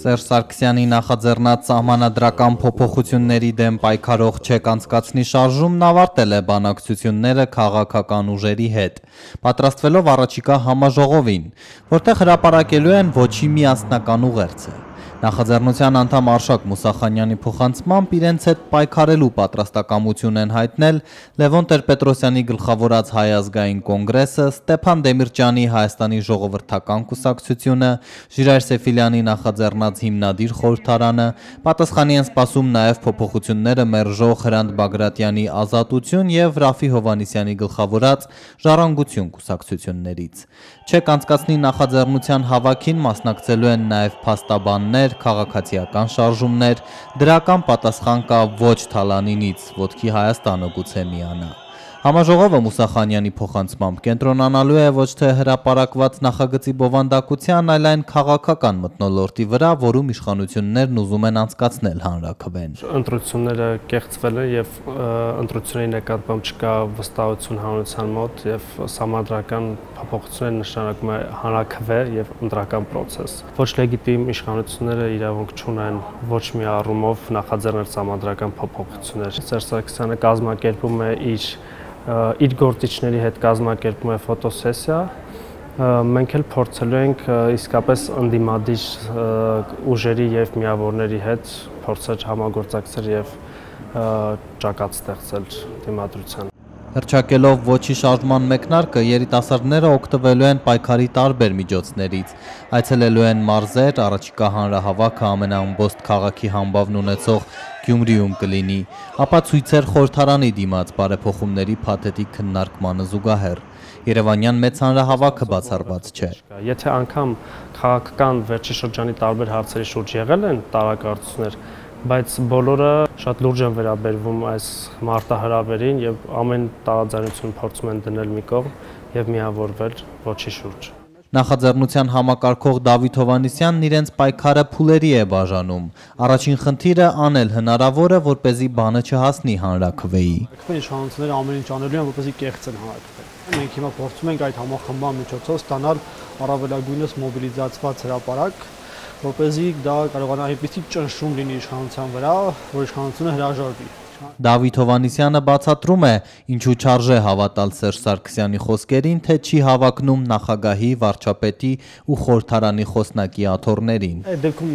Սերժ Սարգսյանի նախաձեռնած սահմանադրական փոփոխությունների դեմ պայքարող ՉԵԿ անցկացնի շարժումն ավարտել է բանակցությունները քաղաքական ուժերի հետ, պատրաստվելով առաջիկա համաժողովին, որտեղ հրապարակելու են ոչի միասնական ուղերձը։ Նախաձեռնության անդամ Արշակ Մուսախանյանի փոխանցմամբ իրենց հետ պայքարելու պատրաստակամություն են հայտնել Լևոն Տեր-Պետրոսյանի գլխավորած Հայ ազգային կոնգրեսը, Ստեփան Դեմիրճյանի Հայաստանի ժողովրդական կուսակցությունը, Ժիրայր Սեֆիլյանի նախաձեռնած Հիմնադիր խորհրդարանը, պատասխանի են սպասում նաև փոփոխությունները մերժող Հրանտ Բագրատյանի Ազատություն եւ Ռաֆի Հովհաննիսյանի գլխավորած Ժառանգություն կուսակցություններից։ ՉԵԿ անցկացնի նախաձեռնության հավաքին մասնակցելու են նաև փաստաբաններ, քաղաքացիական շարժումներ, դրական պատասխան կա ոչ Թալանինից, ոտքի Հայաստանը գուցե միանա։ Համաժողովը Մուսախանյանի փոխանցմամբ կենտրոնանալու է ոչ թե հրապարակված նախագծի բովանդակության, այլ այն քաղաքական մթնոլորտի վրա, որում իշխանություններն ուզում են անցկացնել հանրաքվեն։ Ընտրությունները կեղծվել են եւ ընտրությունների նկատմամբ չկա վստահություն հանրության մոտ եւ սահմանադրական փոփոխությունները նշանակում է հանրաքվե եւ ընտրական process։ Ոչ լեգիտիմ իշխանությունները իրավունք չունեն ոչ մի առումով նախաձեռնել սահմանադրական փոփոխություններ։ Սերժ Սարգսյանը կազմակերպում է իր գործիչների հետ կազմակերպում է ֆոտոսեսիա, մենք էլ փորձելու ենք իսկապես ընդդիմադիր ուժերի եւ միավորների հետ փորձել համագործակցել եւ ճակատ ստեղծել դիմադրության։ Հռչակելով ոչի շարժման մեկնարկը, երիտասարդները օգտվելու են պայքարի տարբեր միջոցներից, այցելելու են մարզեր, առաջիկա հանրահավաքը ամենաըմբոստ քաղաքի համբավն ունեցող Գյումրիում կլինի, ապա ցույցեր խորհրդարանի դիմաց բարեփոխումների փաթեթիկ քննարկմանը զուգահեռ։ Երևանյան մեծ հանրահավաքը բացառված չէ։ Եթե անգամ քաղաքական վերջի շրջանի տարբեր հարցերի շուրջ եղել են տարակարծություններ, բայց բոլորը շատ լուրջ են վերաբերվում այս մարտահրավերին եւ ամեն տարաձայնություն փորձում են դնել մի կողմ եւ միավորվել ոչի շուրջ։ Նախաձեռնության համակարգող Դավիթ Հովհաննիսյանն իրենց պայքարը փուլերի է բաժանում։ Առաջին խնդիրը անել հնարավորը, որպեսզի բանը չհասնի հանրաքվեի։ Իշխանությունները ամեն ինչ անելու են, որպեսզի կեղծեն հանրաքվեն։ Մենք հիմա փորձում ենք այդ համախմբման միջոցով ստանալ առավելագույնս մոբիլիզացված հրապարակ, որպեսզի դա կարողանա այնպիսի ճնշում լինի իշխանության վրա, որ իշխանությունը հրաժարվի։ Դավիթ Հովհաննիսյանը բացատրում է, ինչու չարժե հավատալ Սերժ Սարգսյանի խոսքերին, թե չի հավակնում նախագահի, վարչապետի ու խորհրդարանի խոսնակի աթոռներին։ Այդ դեպքում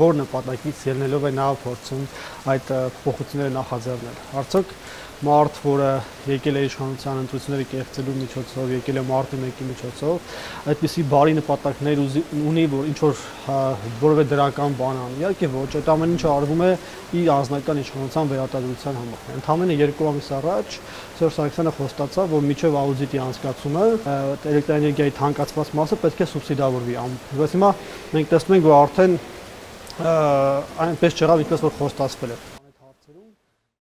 որ նպատակից ելնելով է նա փորձում այդ փոփոխությունները նախաձեռնել։ Արդյոք մարդ, որը եկել է իշխանության ընտրությունները կեղծելու միջոցով, եկել է մարտի 1-ի միջոցով, այդպիսի բարի նպատակներ ունի, որ ինչ որ որևէ դրական բան անի։ Իհարկե ոչ, այդ ամեն ինչը արվում է իր անձնական իշխանության վերարտադրության համար։ Ընդամենը 2 ամիս առաջ Սերժ Սարգսյանը խոստացավ, որ միջև աուդիտի անցկացումը էլեկտրաէներգիայի թանկացված մասը պետք է սուբսիդավորվի։ Բայց հիմա մենք տեսնում ենք, որ արդեն այնպես չեղավ, ինչպես որ խոստացվել է։